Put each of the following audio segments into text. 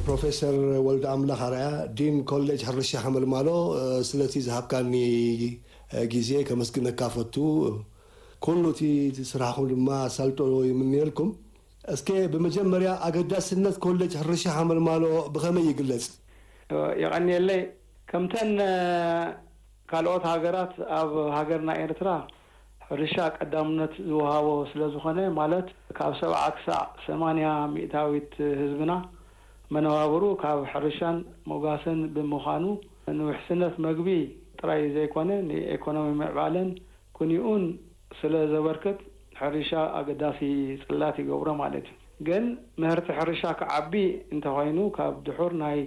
ፕሮፌሰር ወልደ ኣምላኽ ኣርኣያ፣ ዲን ኮሌጅ ሕርሻ ሓመልማሎ፣ ስለቲ ዝሃብካኒ ግዜ ከመስግነካ ፈቱ። ኩሉ እቲ ስራሕኹም ድማ ኣሳልጦ ይምንየልኩም። እስከ ብመጀመርያ ኣገዳስነት ኮሌጅ ሕርሻ ሓመልማሎ ብኸመይ ይግለጽ? የቐንየለይ። ከምተን ካልኦት ሃገራት፣ ኣብ ሃገርና ኤርትራ ሕርሻ ቀዳምነት ዝወሃቦ ስለ ዝኾነ፣ ማለት ካብ ሰብዓ ክሳዕ ሰማንያ ሚእታዊት ህዝብና መነባብሩ ካብ ሕርሻን ሞጋሰን ብምዃኑ፣ ንውሕስነት መግቢ ጥራይ ዘይኮነ ንኤኮኖሚ ምዕባለን ኩኒኡን ስለ ዘበርክት፣ ሕርሻ ኣገዳሲ ጽላት ይገብሮ ማለት እዩ። ግን ምህርቲ ሕርሻ ክዓቢ እንተኾይኑ፣ ካብ ድሑር ናይ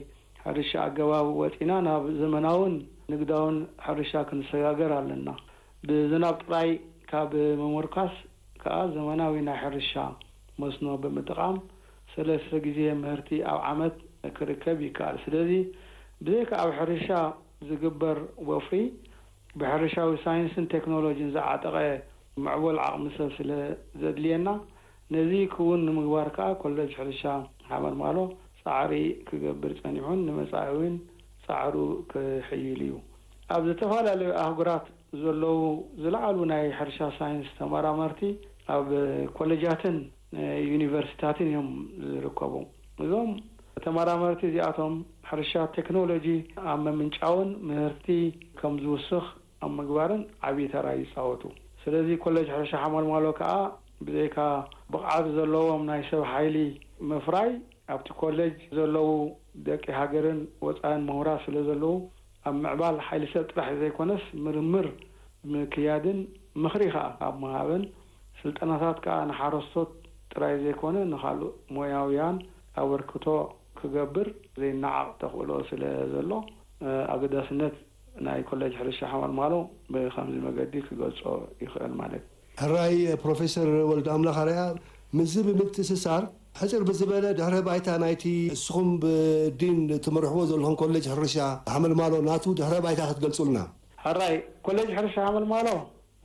ሕርሻ ኣገባብ ወጺና ናብ ዘመናውን ንግዳውን ሕርሻ ክንሰጋገር ኣለና። ብዝናብ ጥራይ ካብ ምምርካስ ከኣ ዘመናዊ ናይ ሕርሻ መስኖ ብምጥቓም ሰለስተ ግዜ ምህርቲ ኣብ ዓመት ክርከብ ይከኣል። ስለዚ ብዘይካ ኣብ ሕርሻ ዝግበር ወፍሪ፣ ብሕርሻዊ ሳይንስን ቴክኖሎጂን ዝዓጠቐ ምዕቡል ዓቕሚ ሰብ ስለ ዘድልየና፣ ነዚ ክውን ንምግባር ከኣ ኮለጅ ሕርሻ ሓመልማሎ ጻዕሪ ክገብር ጸኒሑን ንመጻኢ እውን ጻዕሩ ክሕይል እዩ። ኣብ ዝተፈላለዩ ኣህጉራት ዘለዉ ዝለዓሉ ናይ ሕርሻ ሳይንስ ተመራመርቲ ኣብ ኮለጃትን ዩኒቨርሲታትን እዮም ዝርከቡ። እዞም ተመራመርቲ እዚኣቶም ሕርሻ ቴክኖሎጂ ኣብ ምምንጫውን ምህርቲ ከም ዝውስኽ ኣብ ምግባርን ዓብዪ ተራ ይጻወቱ። ስለዚ ኮለጅ ሕርሻ ሓመልማሎ ከኣ ብዘይካ ብቕዓት ዘለዎም ናይ ሰብ ሓይሊ ምፍራይ፣ ኣብቲ ኮሌጅ ዘለዉ ደቂ ሃገርን ወጻእን ምሁራት ስለ ዘለዉ፣ ኣብ ምዕባል ሓይሊ ሰብ ጥራሕ ዘይኮነስ ምርምር ምክያድን ምኽሪ ከኣ ኣብ ምሃብን፣ ስልጠናታት ከኣ ንሓረስቶት ጥራይ ዘይኮነ ንኻልእ ሞያውያን ኣበርክቶ ክገብር ዘይነዓቕ ተኽእሎ ስለ ዘሎ፣ ኣገዳስነት ናይ ኮሌጅ ሕርሻ ሓመልማሎ ብኸምዚ መገዲ ክገልጾ ይኽእል ማለት እዩ። ሕራይ ፕሮፌሰር ወልደ ኣምላኽ ኣርኣያ፣ ምስዚ ብምትእስሳር ሕጽር ብዝበለ ድሕረ ባይታ ናይቲ እስኹም ብዲን ትመርሕዎ ዘለኹም ኮሌጅ ሕርሻ ሓመልማሎ ናቱ ድሕረ ባይታ ክትገልጹልና። ሕራይ ኮሌጅ ሕርሻ ሓመልማሎ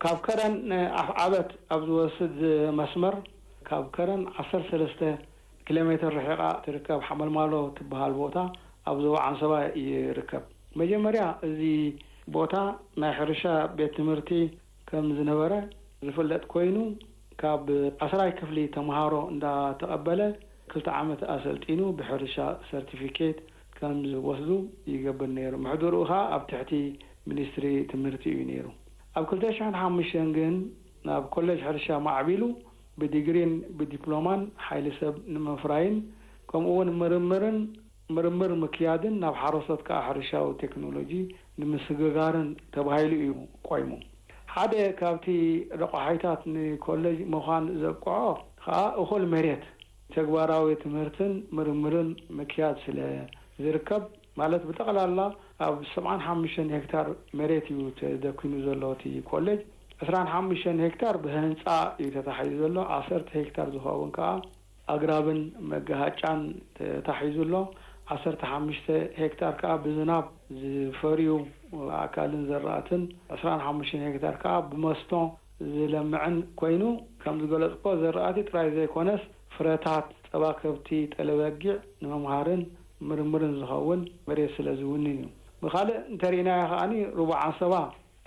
ካብ ከረን ኣፍዓበት ኣብ ዝወስድ መስመር ካብ ከረን ዓሰርተ ሰለስተ ኪሎ ሜትር ርሒቓ ትርከብ ሓመልማሎ ትበሃል ቦታ ኣብ ዞባ ዓንሰባ ይርከብ። መጀመርያ እዚ ቦታ ናይ ሕርሻ ቤት ትምህርቲ ከም ዝነበረ ዝፍለጥ ኮይኑ፣ ካብ ዓስራይ ክፍሊ ተምሃሮ እንዳተቐበለ ክልተ ዓመት ኣሰልጢኑ ብሕርሻ ሰርቲፊኬት ከም ዝወስዱ ይገብር ነይሩ። ምሕደርኡ ኸኣ ኣብ ትሕቲ ሚኒስትሪ ትምህርቲ እዩ ነይሩ። ኣብ ክልተ ሽሕን ሓሙሽተን ግን ናብ ኮሌጅ ሕርሻ ማዕቢሉ ብዲግሪን ብዲፕሎማን ሓይሊ ሰብ ንምፍራይን ከምኡ እውን ምርምርን ምርምር ምክያድን ናብ ሓረስቶት ከኣ ሕርሻዊ ቴክኖሎጂ ንምስግጋርን ተባሂሉ እዩ ቆይሙ። ሓደ ካብቲ ረቋሒታት ንኮሌጅ ምዃን ዘብቅዖ ከኣ እኹል መሬት ተግባራዊ ትምህርትን ምርምርን ምክያድ ስለ ዝርከብ፣ ማለት ብጠቕላላ ኣብ ሰብዓን ሓሙሽተን ሄክታር መሬት እዩ ተደኪኑ ዘሎ እቲ ኮሌጅ። ዕስራን ሓሙሽተን ሄክታር ብህንጻ እዩ ተታሒዙ ዘሎ። ዓሰርተ ሄክታር ዝኸውን ከኣ ኣግራብን መጋሃጫን ተታሒዙ ኣሎ። ዓሰርተ ሓሙሽተ ሄክታር ከኣ ብዝናብ ዝፈርዩ ኣእካልን ዘራእትን፣ ዕስራን ሓሙሽተን ሄክታር ከኣ ብመስኖ ዝለምዕን ኮይኑ፣ ከም ዝገለጽኩዎ ዘራእቲ ጥራይ ዘይኮነስ ፍረታት፣ ጸባ ከብቲ፣ ጠለ በጊዕ ንምምሃርን ምርምርን ዝኸውን መሬት ስለ ዝውንን እዩ። ብኻልእ እንተርኢናዮ ከኣ ሩባ ዓንሰባ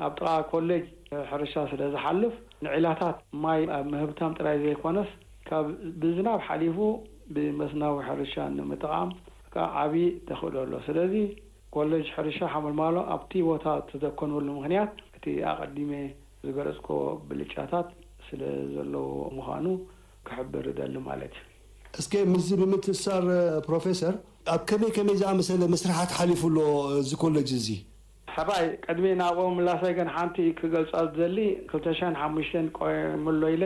ኣብ ጥቓ ኮሌጅ ሕርሻ ስለ ዝሓልፍ፣ ንዒላታት ማይ ኣብ ምህብታም ጥራይ ዘይኮነስ፣ ካብ ብዝናብ ሓሊፉ ብመስናዊ ሕርሻ ንምጥቓም ከኣ ዓቢ ተኽእሎ ኣሎ። ስለዚ ኮሌጅ ሕርሻ ሓመልማሎ ኣብቲ ቦታ ዝተደኮነሉ ምኽንያት እቲ ኣቐዲመ ዝገለጽኩዎ ብልጫታት ስለ ዘለዎ ምዃኑ ክሕብር እደሊ ማለት እዩ። እስከ ምስዚ ብምትእስሳር ፕሮፌሰር፣ ኣብ ከመይ ከመይ ዝኣመሰለ መስርሓት ሓሊፉ ኣሎ እዚ ኮሌጅ እዚ? ሕራይ፣ ቅድሚ ናብኡ ምላሰይ ግን ሓንቲ ክገልጻ ዝደሊ፣ ክልተ ሽሕን ሓሙሽተን ቆይሙሎ ኢለ፣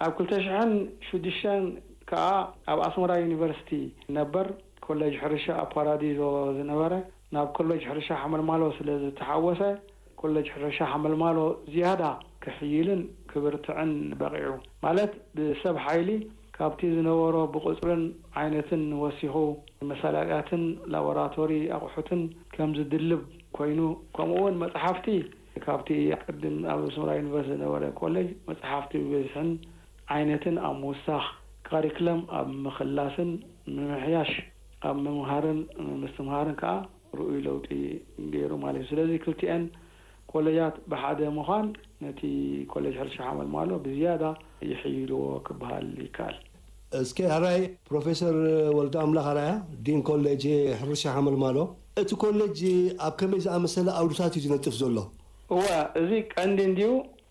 ኣብ ክልተ ሽሕን ሽዱሽተን ከኣ ኣብ ኣስመራ ዩኒቨርሲቲ ነበር ኮሌጅ ሕርሻ ኣብ ፓራዲዞ ዝነበረ ናብ ኮሌጅ ሕርሻ ሓመልማሎ ስለ ዝተሓወሰ፣ ኮሌጅ ሕርሻ ሓመልማሎ ዝያዳ ክሕይልን ክብርትዕን በቒዑ። ማለት ብሰብ ሓይሊ ካብቲ ዝነበሮ ብቑጽርን ዓይነትን ወሲኹ፣ መሳለጥያትን ላቦራቶሪ ኣቑሑትን ከም ዝድልብ ኮይኑ፣ ከምኡውን መጽሓፍቲ ካብቲ ቅድም ኣብ ኣስመራ ዩኒቨርሲቲ ዝነበረ ኮሌጅ መጽሓፍቲ ብብዝሕን ዓይነትን ኣብ ምውሳኽ፣ ካሪክለም ኣብ ምኽላስን ምምሕያሽ ኣብ ምምሃርን ምስትምሃርን ከዓ ርኡይ ለውጢ ገይሩ ማለት እዩ። ስለዚ ክልቲኤን ኮሌጃት ብሓደ ምዃን ነቲ ኮሌጅ ሕርሻ ሓመልማሎ ብዝያዳ ይሕይልዎ ክበሃል ይከኣል። እስከ ሕራይ ፕሮፌሰር ወልደ ኣምላኽ ኣርኣያ፣ ዲን ኮሌጅ ሕርሻ ሓመልማሎ፣ እቲ ኮሌጅ ኣብ ከመይ ዝኣመሰለ ዓውድታት እዩ ዝነጥፍ ዘሎ? እወ፣ እዚ ቀንዲ እንድዩ።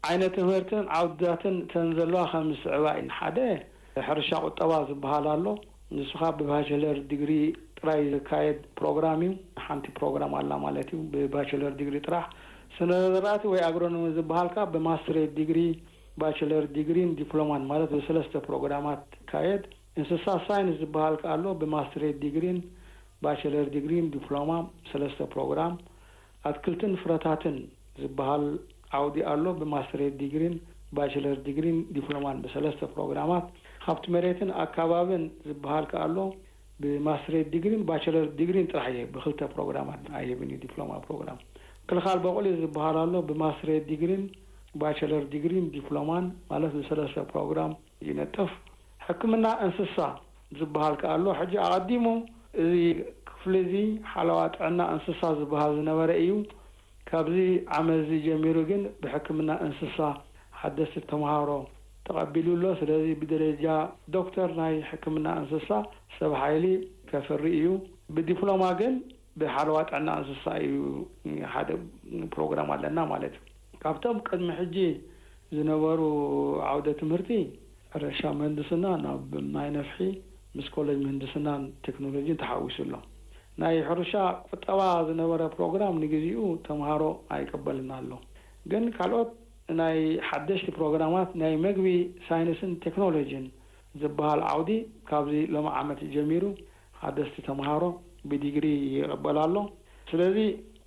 ዓይነት ትምህርትን ዓውድታትን እተን ዘለዋ ከም ዝስዕባ እየን። ሓደ ሕርሻ ቁጠባ ዝበሃል ኣሎ። ንሱ ኸኣ ብባቸለር ዲግሪ ጥራይ ዝካየድ ፕሮግራም እዩ። ሓንቲ ፕሮግራም ኣላ ማለት እዩ፣ ብባቸለር ዲግሪ ጥራሕ። ስነ ዘራእቲ ወይ ኣግሮኖሚ ዝበሃል ከኣ ብማስትሬት ዲግሪ፣ ባቸለር ዲግሪን ዲፕሎማን ማለት ብሰለስተ ፕሮግራማት ይካየድ። እንስሳ ሳይንስ ዝበሃል ከኣ ኣሎ፣ ብማስትሬት ዲግሪን ባቸለር ዲግሪን ዲፕሎማ፣ ሰለስተ ፕሮግራም። ኣትክልትን ፍረታትን ዝበሃል ዓውዲ ኣሎ፣ ብማስትሬት ዲግሪን ባቸለር ዲግሪን ዲፕሎማን ብሰለስተ ፕሮግራማት። ሃብቲ መሬትን ኣከባብን ዝበሃል ከኣ ኣሎ፣ ብማስትሬት ዲግሪን ባቸለር ዲግሪን ጥራሕ ይህብ፣ ብክልተ ፕሮግራማት ኣይህብን እዩ፣ ዲፕሎማ ፕሮግራም። ክልኻል በቑሊ ዝበሃል ኣሎ፣ ብማስትሬት ዲግሪን ባቸለር ዲግሪን ዲፕሎማን ማለት ብሰለስተ ፕሮግራም ይነጥፍ። ሕክምና እንስሳ ዝበሃል ከኣ ኣሎ። ሕጂ ኣቐዲሙ እዚ ክፍሊ እዚ ሓለዋ ጥዕና እንስሳ ዝበሃል ዝነበረ እዩ። ካብዚ ዓመት እዚ ጀሚሩ ግን ብሕክምና እንስሳ ሓደስቲ ተምሃሮ ተቐቢሉ ኣሎ። ስለዚ ብደረጃ ዶክተር ናይ ሕክምና እንስሳ ሰብ ሓይሊ ከፍሪ እዩ። ብዲፕሎማ ግን ብሓለዋ ጥዕና እንስሳ እዩ ሓደ ፕሮግራም ኣለና ማለት እዩ። ካብቶም ቅድሚ ሕጂ ዝነበሩ ዓውደ ትምህርቲ ሕርሻ ምህንድስና ናብ ማይ ነፍሒ ምስ ኮሌጅ ምህንድስናን ቴክኖሎጂን ተሓዊሱ ኣሎ። ናይ ሕርሻ ቁጠባ ዝነበረ ፕሮግራም ንግዚኡ ተምሃሮ ኣይቀበልን ኣሎ። ግን ካልኦት ናይ ሓደሽቲ ፕሮግራማት ናይ መግቢ ሳይንስን ቴክኖሎጂን ዝበሃል ዓውዲ ካብዚ ሎሚ ዓመት ጀሚሩ ሓደስቲ ተምሃሮ ብዲግሪ ይቕበል ኣሎ። ስለዚ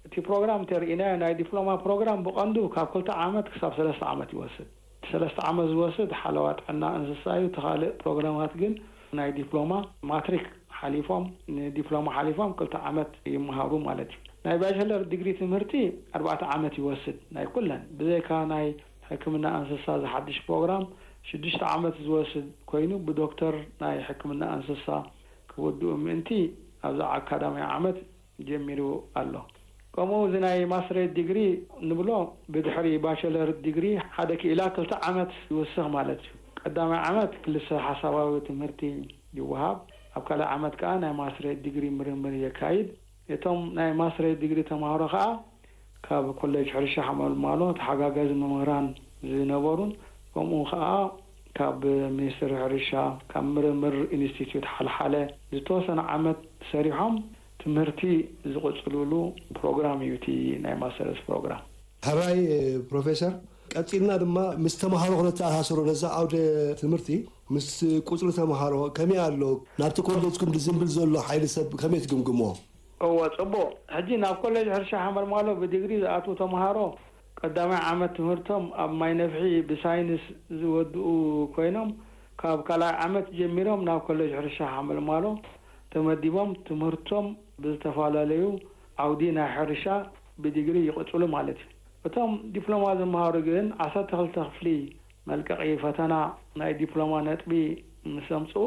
እቲ ፕሮግራም እንተርኢናዮ ናይ ዲፕሎማ ፕሮግራም ብቐንዱ ካብ ክልተ ዓመት ክሳብ ሰለስተ ዓመት ይወስድ። ሰለስተ ዓመት ዝወስድ ሓለዋ ጥዕና እንስሳ እዩ። እቲ ካልእ ፕሮግራማት ግን ናይ ዲፕሎማ ማትሪክ ሓሊፎም፣ ንዲፕሎማ ሓሊፎም ክልተ ዓመት ይመሃሩ ማለት እዩ። ናይ ባቸለር ዲግሪ ትምህርቲ ኣርባዕተ ዓመት ይወስድ ናይ ኩለን፣ ብዘይካ ናይ ሕክምና እንስሳ ዝሓድሽ ፕሮግራም ሽዱሽተ ዓመት ዝወስድ ኮይኑ ብዶክተር ናይ ሕክምና እንስሳ ክውድኡ ምእንቲ ኣብዚ ኣካዳሚ ዓመት ጀሚሩ ኣሎ። ከምኡ እዚ ናይ ማስትሬት ዲግሪ ንብሎ ብድሕሪ ባቸለር ዲግሪ ሓደ ክኢላ ክልተ ዓመት ይውስኽ ማለት እዩ። ቀዳማይ ዓመት ክልሰ ሓሳባዊ ትምህርቲ ይወሃብ። ኣብ ካልኣይ ዓመት ከኣ ናይ ማስትሬት ዲግሪ ምርምር የካይድ። እቶም ናይ ማስትሬት ዲግሪ ተምሃሮ ከኣ ካብ ኮሌጅ ሕርሻ ሓመልማሎ ተሓጋጋዚ መምህራን ዝነበሩን ከምኡ ከኣ ካብ ሚኒስትሪ ሕርሻ ካብ ምርምር ኢንስቲትዩት ሓልሓለ ዝተወሰነ ዓመት ሰሪሖም ትምህርቲ ዝቕጽልሉ ፕሮግራም እዩ እቲ ናይ ማስተርስ ፕሮግራም። ሕራይ ፕሮፌሰር፣ ቀጺልና ድማ ምስ ተምሃሮ ክነተኣሳስሮ ነዛ ዓውደ ትምህርቲ ምስ ቁጽሪ ተምሃሮ ከመይ ኣሎ? ናብቲ ኮሌጅኩም ዝዝንብል ዘሎ ሓይሊ ሰብ ከመይ ትግምግሞ? እወ፣ ጽቡቕ። ሕጂ ናብ ኮሌጅ ሕርሻ ሓመልማሎ ብዲግሪ ዝኣትዉ ተምሃሮ ቀዳማይ ዓመት ትምህርቶም ኣብ ማይ ነፍሒ ብሳይንስ ዝወድኡ ኮይኖም ካብ ካልኣይ ዓመት ጀሚሮም ናብ ኮሌጅ ሕርሻ ሓመልማሎ ተመዲቦም ትምህርቶም ብዝተፈላለዩ ዓውዲ ናይ ሕርሻ ብዲግሪ ይቕጽሉ ማለት እዩ። እቶም ዲፕሎማ ዝመሃሩ ግን ዓሰርተ ክልተ ክፍሊ መልቀቒ ፈተና ናይ ዲፕሎማ ነጥቢ ምስ ኣምጽኡ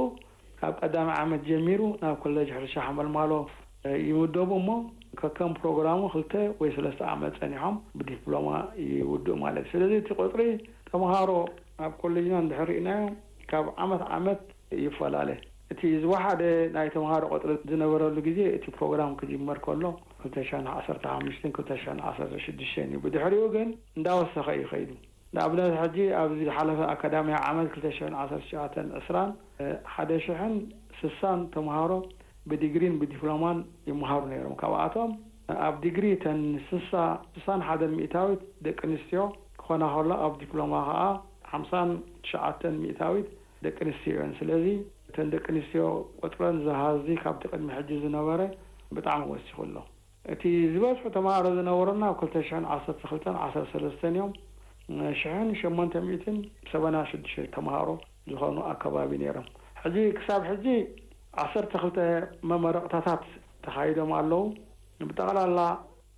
ካብ ቀዳማይ ዓመት ጀሚሩ ናብ ኮሌጅ ሕርሻ ሓመልማሎ ይምደቡ እሞ ከከም ፕሮግራሙ ክልተ ወይ ሰለስተ ዓመት ጸኒሖም ብዲፕሎማ ይውድኡ ማለት እዩ። ስለዚ እቲ ቁጽሪ ተምሃሮ ኣብ ኮሌጅና እንድሕር ርኢናዮ ካብ ዓመት ዓመት ይፈላለ። እቲ ዝወሓደ ናይ ተምሃሮ ቁጽሪ ዝነበረሉ ግዜ እቲ ፕሮግራም ክጅመር ከሎ ክልተ ሽሕን ዓሰርተ ሓሙሽተን ክልተ ሽሕን ዓሰርተ ሽዱሽተን እዩ። ብድሕሪኡ ግን እንዳወሰኸ እዩ ከይዱ። ንኣብነት ሕጂ ኣብዚ ዝሓለፈ ኣካዳምያ ዓመት ክልተ ሽሕን ዓሰርተ ትሽዓተን ዕስራን ሓደ ሽሕን ስሳን ተምሃሮ ብዲግሪን ብዲፕሎማን ይመሃሩ ነይሮም። ካብኣቶም ኣብ ዲግሪ ተን ስሳ ስሳን ሓደን ሚእታዊት ደቂ ኣንስትዮ ክኾና ከሎ ኣብ ዲፕሎማ ከዓ ሓምሳን ትሽዓተን ሚእታዊት ደቂ ኣንስትዮ እየን። ስለዚ እተን ደቂ ኣንስትዮ ቁፅረን ዝሃዚ ካብቲ ቅድሚ ሕጂ ዝነበረ ብጣዕሚ ወሲኹ ኣሎ። እቲ ዝበዝሑ ተምሃሮ ዝነበሩና ኣብ ክልተ ሽሕን ዓሰርተ ክልተን ዓሰርተ ሰለስተን እዮም። ሽሕን ሸሞንተ ሚእትን ሰበና ሽዱሽተ ተምሃሮ ዝኾኑ ኣከባቢ ነይሮም። ሕጂ ክሳብ ሕጂ ዓሰርተ ክልተ መመረቕታታት ተኻይዶም ኣለዉ። ብጠቕላላ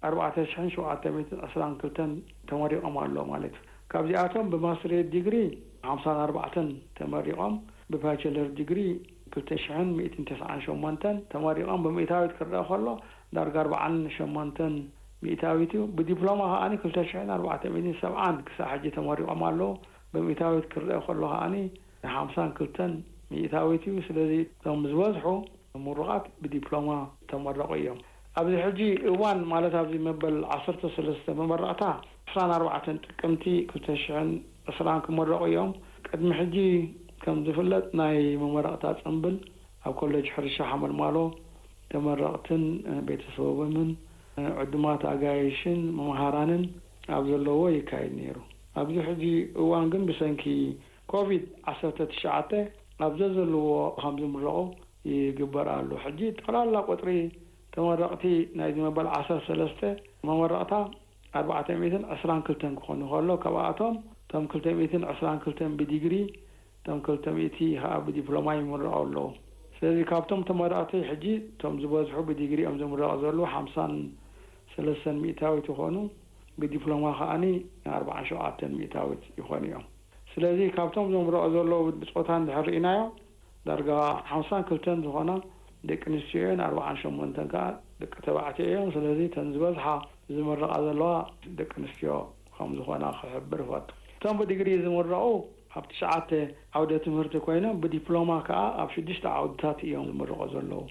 ኣርባዕተ ሽሕን ሸውዓተ ሚእትን ዕስራን ክልተን ተመሪቖም ኣለዉ ማለት እዩ። ካብዚኣቶም ብማስትሬት ዲግሪ ሓምሳን ኣርባዕተን ተመሪቖም፣ ብባቸለር ዲግሪ ክልተ ሽሕን ሚእትን ተስዓን ሸሞንተን ተመሪቖም ብምእታዊት ክረአ ከሎ ዳርጋ ኣርባዓን ሸሞንተን ሚእታዊት እዩ። ብዲፕሎማ ከኣ ክልተ ሽሕን ኣርባዕተ ሚእትን ሰብዓን ክሳብ ሕጂ ተመሪቖም ኣለዉ። ብምእታዊት ክረአ ከሎ ከኣ ሓምሳን ክልተን ሚእታዊት እዩ። ስለዚ እቶም ዝበዝሑ ምሩቓት ብዲፕሎማ ተመረቑ እዮም። ኣብዚ ሕጂ እዋን ማለት ኣብዚ መበል ዓሰርተ ሰለስተ መመረቕታ ዕስራን ኣርባዕተን ጥቅምቲ ክልተ ሽሕን ዕስራን ክመረቑ እዮም። ቅድሚ ሕጂ ከም ዝፍለጥ ናይ መመረቕታ ጽምብል ኣብ ኮሌጅ ሕርሻ ሓመልማሎ ተመረቕትን ቤተሰቦምን ዕዱማት ኣጋይሽን መምሃራንን ኣብ ዘለዎ ይካየድ ነይሩ። ኣብዚ ሕጂ እዋን ግን ብሰንኪ ኮቪድ ዓሰርተ ትሽዓተ ኣብ ዘዘለዎ ከም ዝምረቑ ይግበር ኣሎ። ሕጂ ጠቕላላ ቁፅሪ ተመረቕቲ ናይዚ መበል ዓሰርተ ሰለስተ መመረቕታ ኣርባዕተ ሚእትን ዕስራን ክልተን ክኾኑ ከሎ ካብኣቶም እቶም ክልተ ሚእትን ዕስራን ክልተን ብዲግሪ እቶም ክልተ ሚእቲ ከዓ ብዲፕሎማ ይምረቑ ኣለዉ። ስለዚ ካብቶም ተመረቕቲ ሕጂ እቶም ዝበዝሑ ብዲግሪ እዮም ዝምረቑ ዘለዉ ሓምሳን ሰለስተን ሚእታዊት ይኾኑ። ብዲፕሎማ ከዓኒ ኣርባዓን ሸውዓተን ሚእታዊት ይኾኑ እዮም። ስለዚ ካብቶም ዘምረቑ ዘለዉ ብፆታ እንድሕር ርኢናዮ ዳርጋ ሓምሳን ክልተን ዝኾና ደቂ ኣንስትዮ እየን፣ ኣርባዓን ሸሞንተን ከዓ ደቂ ተባዕትዮ እዮም። ስለዚ እተን ዝበዝሓ ዝምረቓ ዘለዋ ደቂ ኣንስትዮ ከም ዝኾና ክሕብር እፈቱ። እቶም ብዲግሪ ዝምረቑ ኣብ ትሽዓተ ዓውደ ትምህርቲ ኮይኖም ብዲፕሎማ ከዓ ኣብ ሽዱሽተ ዓውድታት እዮም ዝምረቑ ዘለዉ።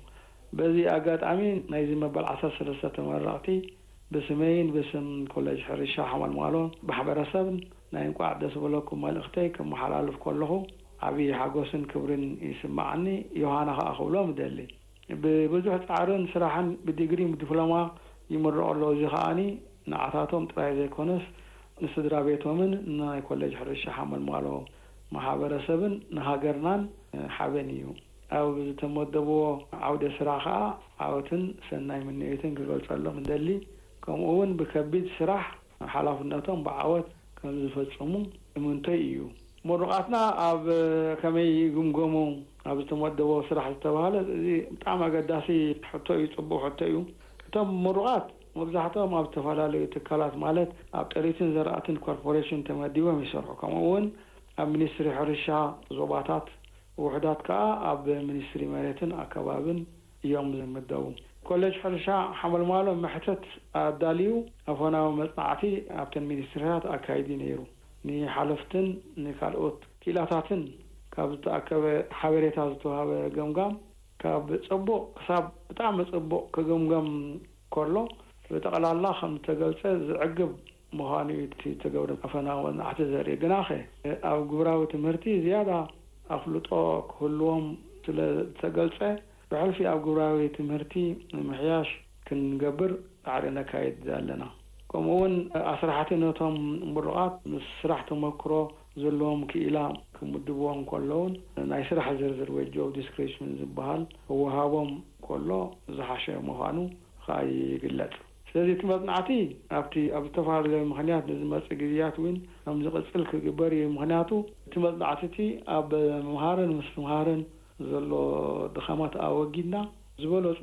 በዚ ኣጋጣሚ ናይዚ መበል ዓሰርተ ሰለስተ ተመረቕቲ ብስመይን ብስም ኮሌጅ ሕርሻ ሓመልማሎ ማሕበረሰብን ናይ እንቋዕ ደስ በለኩም መልእኽተይ ከመሓላልፍ ከለኹ ዓብዪ ሓጎስን ክብርን ይስማዓኒ። ዮሃና ከኣ ክብሎም እደሊ። ብብዙሕ ጻዕርን ስራሕን ብዲግሪ ብዲፕሎማ ይምረቑ ኣለዉ። እዚ ከኣኒ ንዓታቶም ጥራይ ዘይኮነስ ንስድራ ቤቶምን ንናይ ኮሌጅ ሕርሻ ሓመልማሎ ማሕበረሰብን ንሃገርናን ሓበን እዩ። ኣብ ዝተመደብዎ ዓውደ ስራሕ ከኣ ዓወትን ሰናይ ምንዮትን ክገልጸሎም እደሊ። ከምኡ እውን ብከቢድ ስራሕ ሓላፍነቶም ብዓወት ከም ዝፈጽሙ እምንቶይ እዩ። ምሩቓትና ኣብ ከመይ ይግምገሙ ኣብ ዝተመደቦ ስራሕ ዝተባህለ እዚ ብጣዕሚ ኣገዳሲ ሕቶ እዩ፣ ጽቡቕ ሕቶ እዩ። እቶም ምሩቓት መብዛሕትኦም ኣብ ዝተፈላለዩ ትካላት ማለት ኣብ ጥሪትን ዘራእትን ኮርፖሬሽን ተመዲቦም ይሰርሑ። ከምኡ እውን ኣብ ሚኒስትሪ ሕርሻ ዞባታት ውሑዳት ከኣ ኣብ ሚኒስትሪ መሬትን ኣከባብን እዮም ዝምደቡ። ኮሌጅ ሕርሻ ሓመልማሎ መሕተት ኣዳልዩ ኣፈናዊ መጽናዕቲ ኣብተን ሚኒስትሪታት ኣካይዲ ነይሩ። ንሓለፍትን ንካልኦት ክኢላታትን ካብ ዝተኣከበ ሓበሬታ ዝተዋህበ ገምጋም ካብ ጽቡቕ ክሳብ ብጣዕሚ ጽቡቕ ክግምገም ከሎ ብጠቕላላ ከም ዝተገልጸ ዝዕግብ ምዃኑ እዩ እቲ ዝተገብረ ኣፈናዊ መጽናዕቲ ዘርኢ። ግናኸ ኣብ ግብራዊ ትምህርቲ ዝያዳ ኣፍልጦ ክህልዎም ስለ ዝተገልጸ ብሕልፊ ኣብ ግብራዊ ትምህርቲ ንምሕያሽ ክንገብር ጻዕሪ ነካይድ ኣለና። ከምኡ እውን ኣስራሕቲ ነቶም ምሩቓት ምስ ስራሕ ተመክሮ ዘለዎም ክኢላ ክምድብዎም ከለውን ናይ ስራሕ ዝርዝር ወይ ጆብ ዲስክሪፕሽን ዝበሃል ክወሃቦም ከሎ ዝሓሸ ምዃኑ ከኣ ይግለጽ። ስለዚ እቲ መጽናዕቲ ኣብቲ ኣብ ዝተፈላለዩ ምኽንያት ንዝመጽእ ግዝያት እውን ከም ዝቕጽል ክግበር እዩ። ምኽንያቱ እቲ መጽናዕቲ እቲ ኣብ ምምሃርን ምስትምሃርን ዘሎ ድኻማት ኣወጊድና ዝበለጹ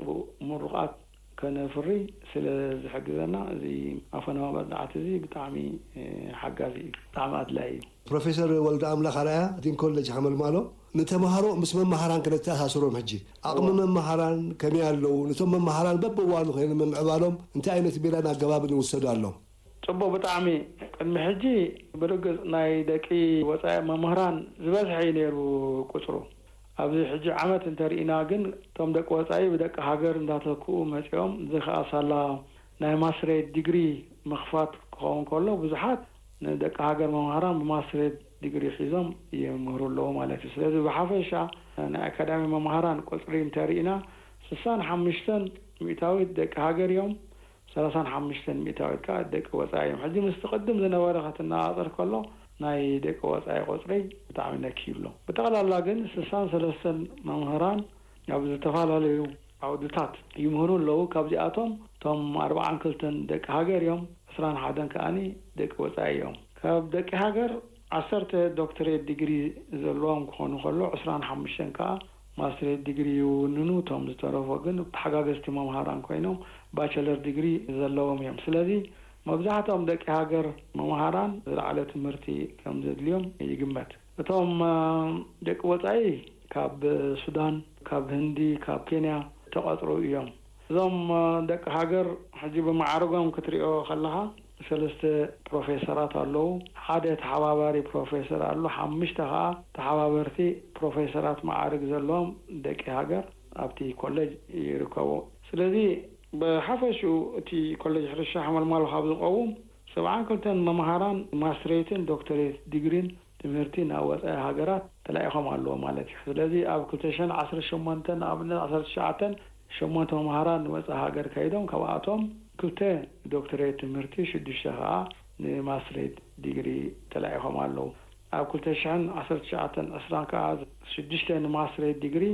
ምሩቓት ከነፍሪ ስለ ዝሕግዘና እዚ ኣፈናዊ መጽናዕቲ እዚ ብጣዕሚ ሓጋዚ እዩ፣ ብጣዕሚ ኣድላይ እዩ። ፕሮፌሰር ወልደ ኣምላኽ ኣርኣያ ዲን ኮሌጅ ሓመልማሎ ንተምሃሮ ምስ መምሃራን ክነተኣሳስሮም ሕጂ ዓቕሚ መምሃራን ከመይ ኣለዉ? ነቶም መምሃራን በብእዋኑ ኮይኑ ምምዕባሎም እንታይ ዓይነት ሜላን ኣገባብን ይውሰዱ ኣሎ? ጽቡቕ፣ ብጣዕሚ። ቅድሚ ሕጂ ብርግጽ ናይ ደቂ ወጻኢ መምህራን ዝበዝሐ እዩ ነይሩ ቁጽሩ። ኣብዚ ሕጂ ዓመት እንተርኢና ግን እቶም ደቂ ወጻኢ ብደቂ ሃገር እንዳተክኡ መጺኦም፣ እዚ ከኣ ሳላ ናይ ማስትሬት ዲግሪ ምኽፋት ክኸውን ከሎ ብዙሓት ንደቂ ሃገር መምሃራን ብማስትሬት ዲግሪ ሒዞም ይምህሩ ኣለዉ ማለት እዩ። ስለዚ ብሓፈሻ ናይ ኣካዳሚ መምሃራን ቁጽሪ እንተርኢና ስሳን ሓሙሽተን ሚእታዊት ደቂ ሃገር እዮም፣ ሰላሳን ሓሙሽተን ሚእታዊት ከኣ ደቂ ወጻኢ እዮም። ሕጂ ምስቲ ቅድም ዝነበረ ክትነጻጸር ከሎ ናይ ደቂ ወጻኢ ቁጽሪ ብጣዕሚ ነኪ ይብሎ። ብጠቕላላ ግን ስሳን ሰለስተን መምህራን ኣብ ዝተፈላለዩ ዓውድታት ይምህሩ ኣለዉ። ካብዚኣቶም እቶም ኣርባዓን ክልተን ደቂ ሃገር እዮም፣ ዕስራን ሓደን ከኣኒ ደቂ ወጻኢ እዮም። ካብ ደቂ ሃገር ዓሰርተ ዶክተሬት ዲግሪ ዘለዎም ክኾኑ ከሎ ዕስራን ሓሙሽተን ከኣ ማስትሬት ዲግሪ ይውንኑ። እቶም ዝተረፎ ግን ተሓጋገዝቲ መምሃራን ኮይኖም ባቸለር ዲግሪ ዘለዎም እዮም። ስለዚ መብዛሕትኦም ደቂ ሃገር መምሃራን ዝለዓለ ትምህርቲ ከም ዘድልዮም ይግመት። እቶም ደቂ ወጻኢ ካብ ሱዳን፣ ካብ ህንዲ፣ ካብ ኬንያ ተቐጽሩ እዮም። እዞም ደቂ ሃገር ሕጂ ብማዕርጎም ክትሪኦ ከለኻ ሰለስተ ፕሮፌሰራት ኣለዉ። ሓደ ተሓባባሪ ፕሮፌሰር ኣሎ። ሓሙሽተ ኸዓ ተሓባበርቲ ፕሮፌሰራት ማዕርግ ዘለዎም ደቂ ሃገር ኣብቲ ኮሌጅ ይርከቡ። ስለዚ ብሓፈሽኡ እቲ ኮሌጅ ሕርሻ ሓመልማሎ ካብ ዝቐውም ሰብዓን ክልተን መምሃራን ማስትሬትን ዶክተሬት ዲግሪን ትምህርቲ ናብ ወፃኢ ሃገራት ተላኢኾም ኣለዎ ማለት እዩ። ስለዚ ኣብ ክልተ ሽሕን ዓሰርተ ሸሞንተን ንኣብነት ዓሰርተ ትሽዓተን ሸሞንተ መምሃራን ንወፃኢ ሃገር ከይዶም፣ ካብኣቶም ክልተ ዶክተሬት ትምህርቲ፣ ሽዱሽተ ከዓ ንማስትሬት ዲግሪ ተላኢኾም ኣለዉ። ኣብ ክልተ ሽሕን ዓሰርተ ትሽዓተን ዕስራን ከዓ ሽዱሽተ ንማስትሬት ዲግሪ፣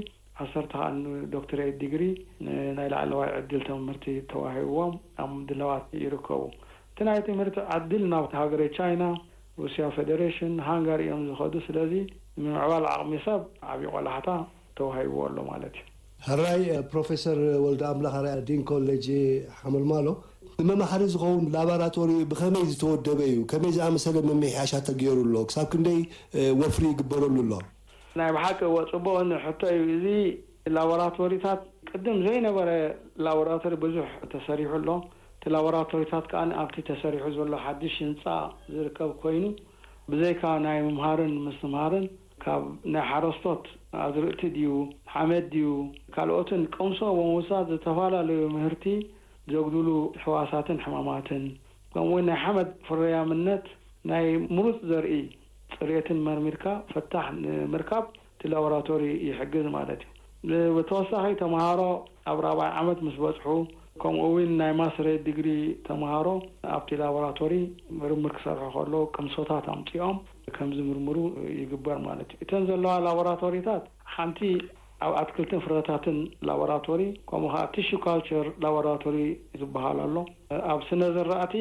ዓሰርተ ከዓ ንዶክተሬት ዲግሪ፣ ንናይ ላዕለዋይ ዕድል ትምህርቲ ተዋሂብዎም ኣብ ምድላዋት ይርከቡ። እቲ ናይ ትምህርቲ ዕድል ናብቲ ሃገረ ቻይና፣ ሩስያ ፌደሬሽን፣ ሃንጋሪ እዮም ዝኸዱ። ስለዚ ንምዕባል ዓቕሚ ሰብ ዓብዪ ቆላሕታ ተዋሂብዎ ኣሎ ማለት እዩ። ሕራይ ፕሮፌሰር ወልደ ኣምላኽ ኣርኣያ ዲን ኮሌጅ ሓመልማሎ፣ ንመማሕሪ ዝኸውን ላቦራቶሪ ብኸመይ ዝተወደበ እዩ? ከመይ ዝኣመሰለ ምምሕያሻት ተገይሩ ኣሎ? ክሳብ ክንደይ ወፍሪ ይግበረሉ ኣሎ? ናይ ብሓቂ እወ፣ ጽቡቕ ሕቶ እዩ። እዚ ላቦራቶሪታት ቅድም ዘይነበረ ላቦራቶሪ ብዙሕ ተሰሪሑ ኣሎ። እቲ ላቦራቶሪታት ከኣ ኣብቲ ተሰሪሑ ዘሎ ሓድሽ ህንጻ ዝርከብ ኮይኑ፣ ብዘይካ ናይ ምምሃርን ምስትምሃርን ካብ ናይ ሓረስቶት ኣዝርእቲ ድዩ፣ ሓመድ ድዩ፣ ካልኦትን ቅምሶ ብምውሳድ ዝተፈላለዩ ምህርቲ ዘጉድሉ ሕዋሳትን ሕማማትን፣ ከምኡውን ናይ ሓመድ ፍርያምነት ናይ ምሩፅ ዘርኢ ፅሬትን መርሚርካ ፈታሕ ንምርካብ እቲ ላቦራቶሪ ይሕግዝ ማለት እዩ። ብተወሳኺ ተምሃሮ ኣብ ራብዓይ ዓመት ምስ በፅሑ፣ ከምኡ እውን ናይ ማስተሬት ዲግሪ ተምሃሮ ኣብቲ ላቦራቶሪ ምርምር ክሰርሑ ከለዉ ቅምሶታት ኣምፂኦም ከም ዝምርምሩ ይግበር ማለት እዩ። እተን ዘለዋ ላቦራቶሪታት ሓንቲ ኣብ ኣትክልትን ፍረታትን ላቦራቶሪ፣ ከምኡ ከዓ ቲሹ ካልቸር ላቦራቶሪ ዝበሃል ኣሎ። ኣብ ስነ ዝራእቲ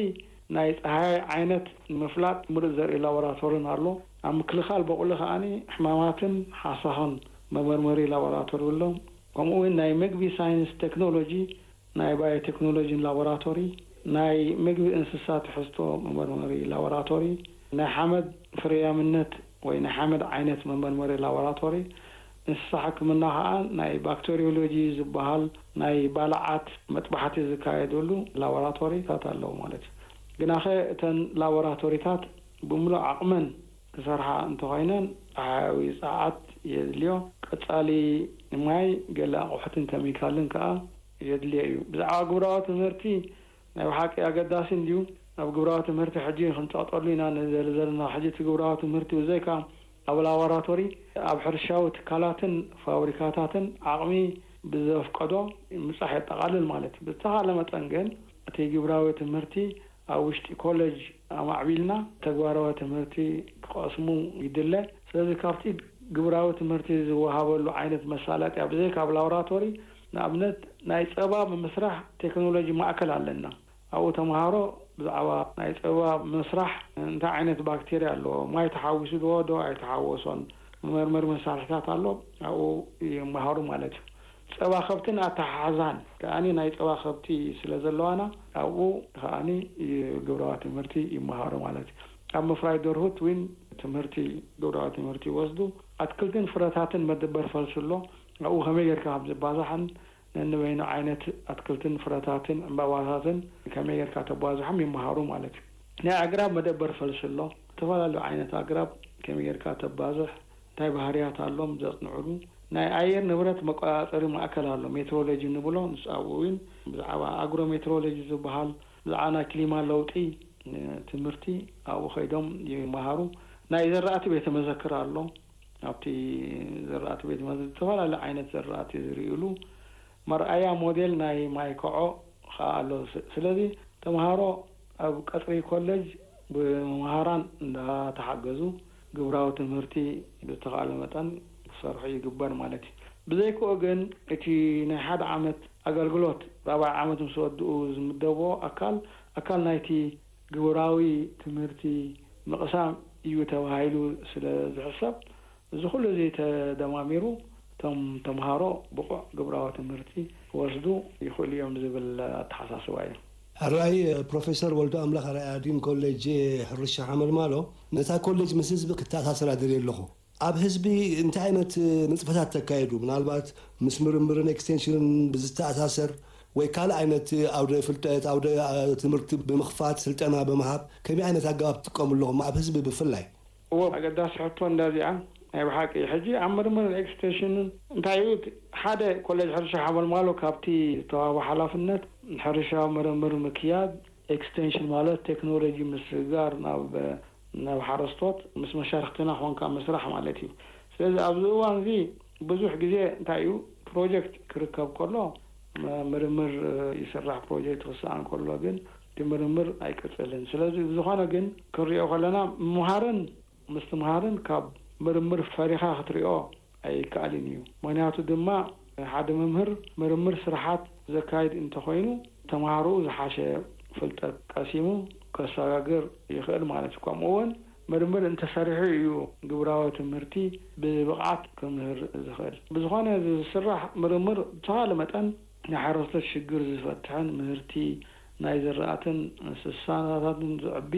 ናይ ፀሃያይ ዓይነት ንምፍላጥ ምሩፅ ዘርኢ ላቦራቶርን ኣሎ። ኣብ ምክልኻል በቑሊ ከዓኒ ሕማማትን ሓሳኽን መመርመሪ ላቦራቶሪ ኣሎ። ከምኡ እውን ናይ ምግቢ ሳይንስ ቴክኖሎጂ፣ ናይ ባዮቴክኖሎጂን ላቦራቶሪ፣ ናይ ምግቢ እንስሳ ትሕዝቶ መመርመሪ ላቦራቶሪ፣ ናይ ሓመድ ፍርያምነት ወይ ናይ ሓመድ ዓይነት መመርመሪ ላቦራቶሪ፣ እንስሳ ሕክምና ከዓ ናይ ባክቴሪዮሎጂ ዝበሃል ናይ ባልዓት መጥባሕቲ ዝካየደሉ ላቦራቶሪታት ኣለዉ ማለት እዩ። ግናኸ እተን ላቦራቶሪታት ብምሉእ ዓቕመን ክሰርሓ እንተኾይነን ፀሓያዊ ፀዓት የድልዮ። ቀፃሊ ማይ፣ ገለ ኣቑሑትን ኬሚካልን ከዓ የድልዮ እዩ። ብዛዕባ ግብራዊ ትምህርቲ ናይ ብሓቂ ኣገዳሲ እንድዩ። ኣብ ግብራዊ ትምህርቲ ሕጂ ክንፀቕጠሉ ኢና ንደሊ ዘለና። ሕጂ እቲ ግብራዊ ትምህርቲ ብዘይካ ኣብ ላቦራቶሪ፣ ኣብ ሕርሻዊ ትካላትን ፋብሪካታትን ዓቕሚ ብዘፍቀዶ ምብፃሕ የጠቓልል ማለት እዩ። ብዝተኻለ መጠን ግን እቲ ግብራዊ ትምህርቲ ኣብ ውሽጢ ኮሌጅ ኣማዕቢልና ተግባራዊ ትምህርቲ ክቐስሙ ይድለ። ስለዚ ካብቲ ግብራዊ ትምህርቲ ዝወሃበሉ ዓይነት መሳለጥያ ብዘይካ ኣብ ላቦራቶሪ፣ ንኣብነት ናይ ፀባ ብምስራሕ ቴክኖሎጂ ማእከል ኣለና። ኣብኡ ተምሃሮ ብዛዕባ ናይ ፀባ ምስራሕ እንታይ ዓይነት ባክቴርያ ኣለዎ፣ ማይ ተሓዊሱ ዶ ዶ ኣይተሓወሶን፣ መመርመሪ መሳርሕታት ኣሎ፣ ኣብኡ ይመሃሩ ማለት እዩ። ፀባ ከብትን ኣተሓሕዛን ከኣኒ ናይ ፀባ ከብቲ ስለ ዘለዋና ኣብኡ ከኣኒ ግብራዊ ትምህርቲ ይመሃሩ ማለት እዩ። ኣብ ምፍራይ ደርሁት እውን ትምህርቲ ግብራዊ ትምህርቲ ይወስዱ። ኣትክልትን ፍረታትን መደበር ፈልሲ ኣሎ። ኣብኡ ከመይ ጌርካ ከም ዝባዛሕን ነንበይኑ ዓይነት ኣትክልትን ፍረታትን ዕምባባታትን ከመይ ጌርካ ተባዝሖም ይመሃሩ ማለት እዩ። ናይ ኣግራብ መደበር ፈልሲ ኣሎ። ዝተፈላለዩ ዓይነት ኣግራብ ከመይ ጌርካ ተባዝሕ፣ እንታይ ባህርያት ኣሎም ዘጽንዕሉ፣ ናይ ኣየር ንብረት መቆጻጸሪ ማእከል ኣሎ፣ ሜትሮሎጂ ንብሎ። ንሱ ኣብኡ እውን ብዛዕባ ኣግሮ ሜትሮሎጂ ዝበሃል፣ ብዛዕባ ናይ ክሊማ ለውጢ ትምህርቲ ኣብኡ ከይዶም ይመሃሩ። ናይ ዘራእቲ ቤተ መዘክር ኣሎ። ኣብቲ ዘራእቲ ቤተ መዘክር ዝተፈላለዩ ዓይነት ዘራእቲ ዝርእዩሉ መርኣያ ሞዴል ናይ ማይ ኮዖ ኸዓ ኣሎ። ስ-፣ ስለዚ ተምሃሮ ኣብ ቀጽሪ ኮሌጅ ብመምሃራን እንዳተሓገዙ ግብራዊ ትምህርቲ ብዝተኻእለ መጠን ክሰርሑ ይግበር ማለት እዩ። ብዘይክኡ ግን እቲ ናይ ሓደ ዓመት ኣገልግሎት ራብዓይ ዓመት ምስ ወድኡ ዝምደብዎ ኣካል፣ ኣካል ናይቲ ግብራዊ ትምህርቲ ምቕሳም እዩ ተባሂሉ ስለ ዝሕሰብ፣ እዚ ኩሉ እዚ ተደማሚሩ እቶም ተምሃሮ ብቑዕ ግብራዊ ትምህርቲ ክወስዱ ይኽእሉ እዮም ዝብል ኣተሓሳስባ እዩ። ሕራይ ፕሮፌሰር ወልደ ኣምላኽ ኣርኣያ ዲን ኮሌጅ ሕርሻ ሓመልማሎ፣ ነታ ኮሌጅ ምስ ህዝቢ ክተኣሳስራ ደልየ ኣለኹ። ኣብ ህዝቢ እንታይ ዓይነት ንጥፈታት ተካየዱ? ምናልባት ምስ ምርምርን ኤክስቴንሽንን ብዝተኣሳሰር ወይ ካልእ ዓይነት ኣውደ ፍልጠት፣ ኣውደ ትምህርቲ ብምኽፋት፣ ስልጠና ብምሃብ ከመይ ዓይነት ኣገባብ ትጥቀሙ ኣለኹም ኣብ ህዝቢ ብፍላይ? እዎ፣ ኣገዳሲ ሕቶ እንዳዚኣ ናይ ብሓቂ። ሕጂ ኣብ ምርምርን ኤክስቴንሽንን እንታይ እዩ? ሓደ ኮሌጅ ሕርሻ ሓመልማሎ ካብቲ ዝተዋህቦ ሓላፍነት ሕርሻዊ ምርምር ምክያድ፣ ኤክስቴንሽን ማለት ቴክኖሎጂ ምስግጋር ናብ ናብ ሓረስቶት ምስ መሻርክትና ኮንካ ምስራሕ ማለት እዩ። ስለዚ ኣብዚ እዋን እዚ ብዙሕ ግዜ እንታይ እዩ፣ ፕሮጀክት ክርከብ ከሎ ምርምር ይስራሕ፣ ፕሮጀክት ክሰኣን ከሎ ግን እቲ ምርምር ኣይቅጽልን። ስለዚ ብዝኾነ ግን ክንሪኦ ከለና ምምሃርን ምስትምሃርን ካብ ምርምር ፈሪኻ ክትሪኦ ኣይከኣልን እዩ። ምክንያቱ ድማ ሓደ መምህር ምርምር ስራሓት ዘካይድ እንተኾይኑ ተምሃሮኡ ዝሓሸ ፍልጠት ቀሲሙ ከሰጋግር ይኽእል ማለት እዩ። ከምኡ እውን ምርምር እንተሰሪሑ እዩ ግብራዊ ትምህርቲ ብብቕዓት ክምህር ዝኽእል። ብዝኾነ ዝስራሕ ምርምር ብተኻለ መጠን ናይ ሓረስቶት ሽግር ዝፈትሕን ምህርቲ ናይ ዝራእትን እንስሳታትን ዝዕቢ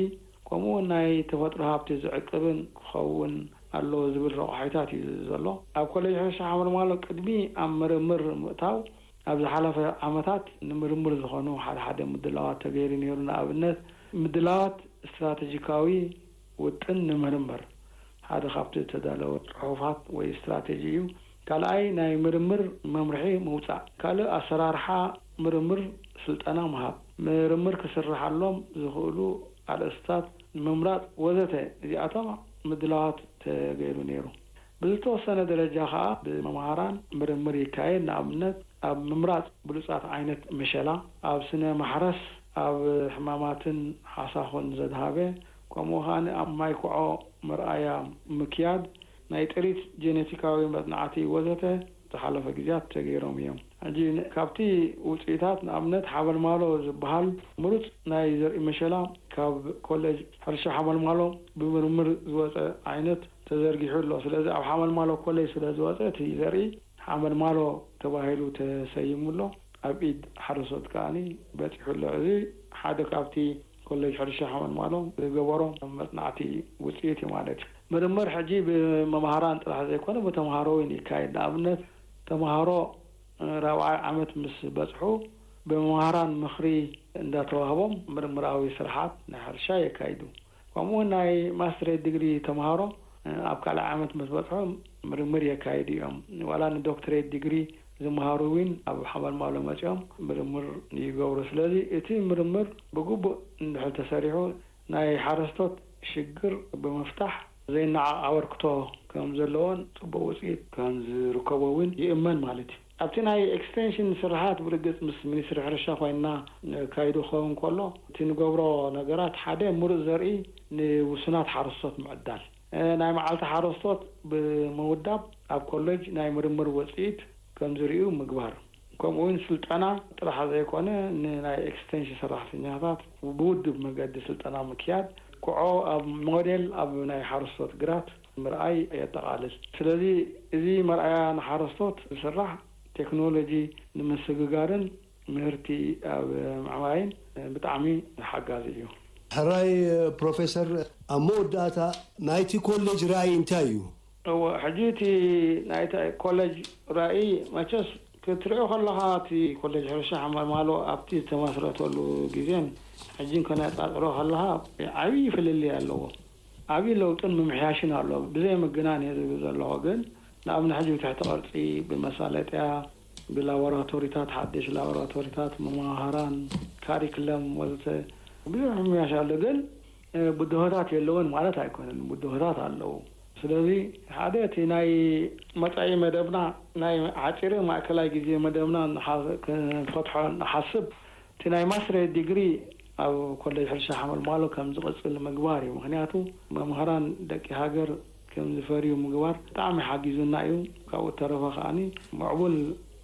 ከምኡ እውን ናይ ተፈጥሮ ሃብቲ ዝዕቅብን ክኸውን ኣለዎ ዝብል ረቋሒታት እዩ ዘሎ። ኣብ ኮሌጅ ሕርሻ ሓመልማሎ ቅድሚ ኣብ ምርምር ምእታው ኣብ ዝሓለፈ ዓመታት ንምርምር ዝኾኑ ሓደ ሓደ ምድላዋት ተገይሩ ነይሩ። ንኣብነት ምድላዋት ስትራተጂካዊ ውጥን ንምርምር ሓደ ካብቲ ዝተዳለወ ጽሑፋት ወይ ስትራተጂ እዩ። ካልኣይ ናይ ምርምር መምርሒ ምውጻእ፣ ካልእ ኣሰራርሓ ምርምር ስልጠና ምሃብ፣ ምርምር ክስርሓሎም ዝኽእሉ ኣርእስታት ምምራጽ ወዘተ እዚኣቶም ምድላዋት ተገይሩ ነይሩ። ብዝተወሰነ ደረጃ ከኣ ብመምሃራን ምርምር ይካየድ። ንኣብነት ኣብ ምምራጽ ብሉጻት ዓይነት መሸላ፣ ኣብ ስነ ማሕረስ፣ ኣብ ሕማማትን ሓሳኹን ዘድሃበ፣ ከምኡ ከኣ ኣብ ማይ ኮዖ መርኣያ ምክያድ፣ ናይ ጥሪት ጄኔቲካዊ መጽናዕቲ ወዘተ ዝሓለፈ ግዜያት ተገይሮም እዮም። ሕጂ ን- ካብቲ ውጽኢታት ንኣብነት ሓመልማሎ ዝበሃል ምሩጽ ናይ ዘርኢ መሸላ ካብ ኮሌጅ ሕርሻ ሓመልማሎ ብምርምር ዝወጸ ዓይነት ተዘርጊሑ ኣሎ። ስለዚ ኣብ ሓመልማሎ ኮሌጅ ስለ ዝወጸ እቲ ዘርኢ ሓመልማሎ ተባሂሉ ተሰይሙ ኣሎ። ኣብ ኢድ ሓረስቶት ከኣኒ በጺሑ ኣሎ። እዚ ሓደ ካብቲ ኮሌጅ ሕርሻ ሓመልማሎ ዝገበሮ መጽናዕቲ ውጽኢት እዩ ማለት እዩ። ምርምር ሕጂ ብመምሃራን ጥራሕ ዘይኮነ ብተምሃሮ እውን ይካየድ። ንኣብነት ተምሃሮ ራብዓይ ዓመት ምስ በጽሑ ብመምሃራን ምኽሪ እንዳተዋህቦም ምርምራዊ ስርሓት ናይ ሕርሻ የካይዱ። ከምኡ እውን ናይ ማስትሬት ዲግሪ ተምሃሮ ኣብ ካልኣይ ዓመት ምስ በጽሑ ምርምር የካይዱ እዮም። ዋላ ንዶክትሬት ዲግሪ ዝመሃሩ እውን ኣብ ሓመልማሎ መጺኦም ምርምር ይገብሩ። ስለዚ እቲ ምርምር ብግቡእ እንድሕር ተሰሪሑ ናይ ሓረስቶት ሽግር ብምፍታሕ ዘይነዓቕ ኣበርክቶ ከም ዘለዎን ጽቡቕ ውጽኢት ከም ዝርከቦ እውን ይእመን ማለት እዩ። ኣብቲ ናይ ኤክስቴንሽን ስርሓት ብርግጽ ምስ ሚኒስትሪ ሕርሻ ኮይንና ነካይዶ ክኸውን ከሎ እቲ ንገብሮ ነገራት ሓደ ምሩጽ ዘርኢ ንውሱናት ሓረስቶት ምዕዳል፣ እ፣ ናይ መዓልቲ ሓረስቶት ብምውዳብ ኣብ ኮሌጅ ናይ ምርምር ውጽኢት ከም ዝርእዩ ምግባር፣ ከምኡ እውን ስልጠና ጥራሕ ዘይኮነ ንናይ ኤክስቴንሽን ሰራሕተኛታት ብውድብ መገዲ ስልጠና ምክያድ፣ ኩዖ ኣብ ሞዴል ኣብ ናይ ሓረስቶት ግራት ምርኣይ የጠቓልል። ስለዚ እዚ መርኣያ ንሓረስቶት ዝስራሕ ቴክኖሎጂ ንምስግጋርን ምህርቲ ኣብ ምዕባይን ብጣዕሚ ሓጋዚ እዩ። ሕራይ ፕሮፌሰር፣ ኣብ መወዳእታ ናይቲ ኮሌጅ ራእይ እንታይ እዩ? እወ፣ ሕጂ እቲ ናይቲ ኮሌጅ ራእይ መቸስ ክትሪኦ ከለኻ እቲ ኮሌጅ ሕርሻ ሓመልማሎ ኣብቲ ዝተመስረተሉ ግዜን ሕጂን ከነጻጽሮ ከለኻ ዓብዪ ፍልልይ ኣለዎ። ዓብዪ ለውጥን ምምሕያሽን ኣሎ። ብዘይ ምግናን እየ ዝብል ዘለኹ፣ ግን ንኣብነት ሕጂ ብትሕቲ ቅርጺ፣ ብመሳለጥያ፣ ብላቦራቶሪታት፣ ሓድሽ ላቦራቶሪታት፣ መማህራን፣ ካሪክለም ወዘተ ብዙሕ ምምሕያሽ ኣሎ። ግን እ፣ ብድሆታት የለውን ማለት ኣይኮነን። ብድሆታት ኣለዉ። ስለዚ ሓደ እቲ ናይ መጻኢ መደብና፣ ናይ ሓጺርን ማእከላይ ግዜ መደብና ንሓ-፣ ክንፈትሖ ንሓስብ፣ እቲ ናይ ማስትሬት ዲግሪ ኣብ ኮሌጅ ሕርሻ ሓመልማሎ ከም ዝቕጽል ምግባር እዩ። ምኽንያቱ መምህራን ደቂ ሃገር ከም ዝፈርዩ ምግባር ብጣዕሚ ሓጊዙና እዩ። ካብኡ ተረፈ ከኣኒ ምዕቡል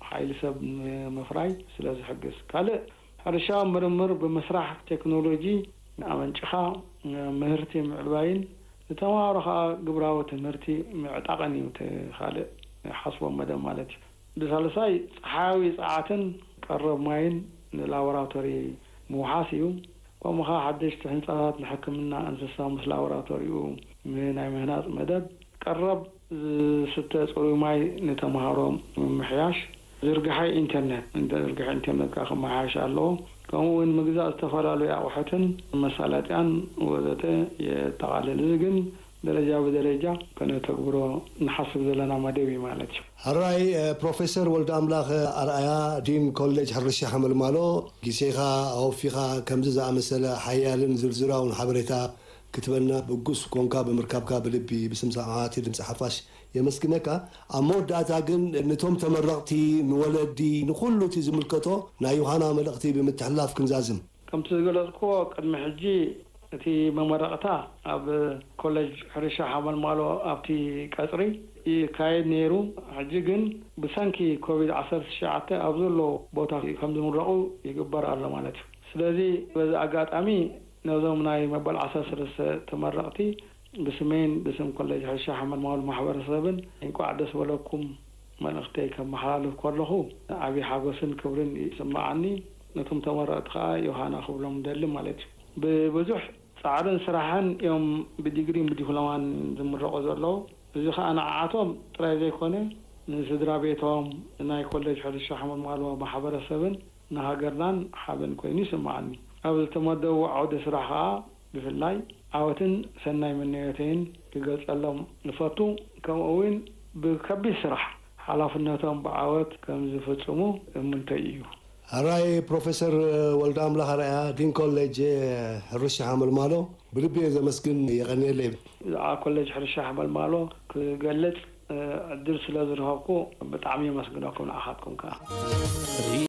ሓይሊ ሰብ ንምፍራይ ስለ ዝሕግዝ። ካልእ ሕርሻዊ ምርምር ብምስራሕ ቴክኖሎጂ ኣመንጭኻ ምህርቲ ምዕባይን ንተምሃሮ ኸኣ ግብራዊ ትምህርቲ ምዕጣቕን እዩ እቲ ካልእ ሓስቦ መደብ ማለት እዩ። ብሳልሳይ ጸሓያዊ ጸዓትን ቀረብ ማይን ንላቦራቶሪ ምውሓስ እዩ። ከምኡ ኸኣ ሓደሽቲ ህንጻታት ንሕክምና እንስሳ ምስ ላቦራቶሪኡ ናይ ምህናጽ መደብ ቀረብ ዝስተ ጽሩይ ማይ ንተምሃሮ ምምሕያሽ፣ ዝርግሐ ኢንተርነት፣ ዝርግሐ ኢንተርነት ከዓ ክመሓየሽ ኣለዎ። ከምኡ እውን ምግዛእ ዝተፈላለዩ ኣቑሑትን መሳለጥያን ወዘተ የጠቓልል። እዚ ግን ደረጃ ብደረጃ ከነተግብሮ ንሓስብ ዘለና መደብ እዩ ማለት እዩ። ሕራይ ፕሮፌሰር ወልደ ኣምላኽ ኣርኣያ፣ ዲን ኮሌጅ ሕርሻ ሓመልማሎ፣ ግዜኻ ኣወፊኻ ከምዚ ዝኣመሰለ ሓያልን ዝርዝራውን ሓበሬታ ክትበና ብጉስ ኮንካ ብምርካብካ ብልቢ ብስም ሰማዕቲ ድምፂ ሓፋሽ የመስግነካ። ኣብ መወዳእታ ግን ነቶም ተመረቕቲ፣ ንወለዲ፣ ንኹሉ እቲ ዝምልከቶ ናይ ዮሃና መልእኽቲ ብምትሕልላፍ ክንዛዝም። ከምቲ ዝገለጽኩዎ ቅድሚ ሕጂ እቲ መመረቕታ ኣብ ኮሌጅ ሕርሻ ሓመልማሎ ኣብቲ ቀጽሪ ይካየድ ነይሩ። ሕጂ ግን ብሰንኪ ኮቪድ ዓሰርተ ትሽዓተ ኣብ ዘሎ ቦታ ከም ዝምረቑ ይግበር ኣሎ ማለት እዩ። ስለዚ በዚ ኣጋጣሚ ነዞም ናይ መበል ዓሰርተ ሰለስተ ተመረቕቲ ብስመይን ብስም ኮሌጅ ሕርሻ ሓመልማሎ ማሕበረሰብን እንቋዕ ደስ በለኩም መልእኽተይ ከመሓላልፍ ከለኹ ዓብዪ ሓጎስን ክብርን ይስምዓኒ። ነቶም ተመረቕቲ ከኣ ዮሃና ክብሎም ደሊ ማለት እዩ። ብብዙሕ ጻዕርን ስራሕን እዮም ብዲግሪን ብዲፕሎማን ዝምረቑ ዘለዉ። እዚ ከኣ ንዓኣቶም ጥራይ ዘይኮነ ንስድራ ቤቶም፣ ናይ ኮሌጅ ሕርሻ ሓመልማሎ ማሕበረሰብን ንሃገርናን ሓበን ኮይኑ ይስምዓኒ። ኣብ ዝተመደቡ ዓውደ ስራሕ ከኣ ብፍላይ ዓወትን ሰናይ ምንዮተይን ክገልጸሎም እፈቱ። ከምኡ እውን ብከቢድ ስራሕ ሓላፍነቶም ብዓወት ከም ዝፍጽሙ እምንቶይ እዩ። ሕራይ ፕሮፌሰር ወልደ ኣምላኽ ኣርኣያ፣ ዲን ኮሌጅ ሕርሻ ሓመልማሎ፣ ብልቢ እየ ዘመስግን። የቐንየለይ። ብዛዕባ ኮሌጅ ሕርሻ ሓመልማሎ ክገልጽ ዕድል ስለ ዝረኸብኩ ብጣዕሚ የመስግነኩም ንዓኻትኩም ከኣ።